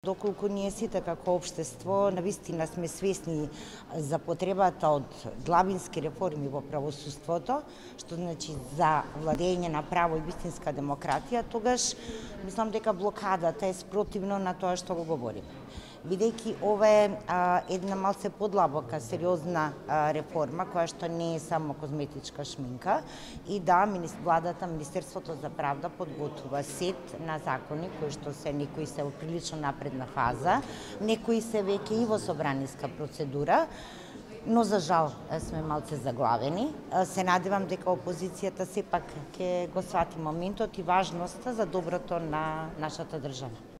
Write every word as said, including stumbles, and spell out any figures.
Доколку ние сите како општество навистина сме свесни за потребата од длабински реформи во правосудството, што значи за владење на право и вистинска демократија, тогаш мислам дека блокадата е спротивно на тоа што го говориме. Бидејќи ова е а, една малце подлабока, сериозна а, реформа, која што не е само козметичка шминка, и да, владата, Министерството за правда подготвува сет на закони, кои што се некои се во прилично напредна фаза, некои се веќе и во собраниска процедура, но за жал сме малце заглавени. Се надевам дека опозицијата сепак ќе го свати моментот и важноста за доброто на нашата држава.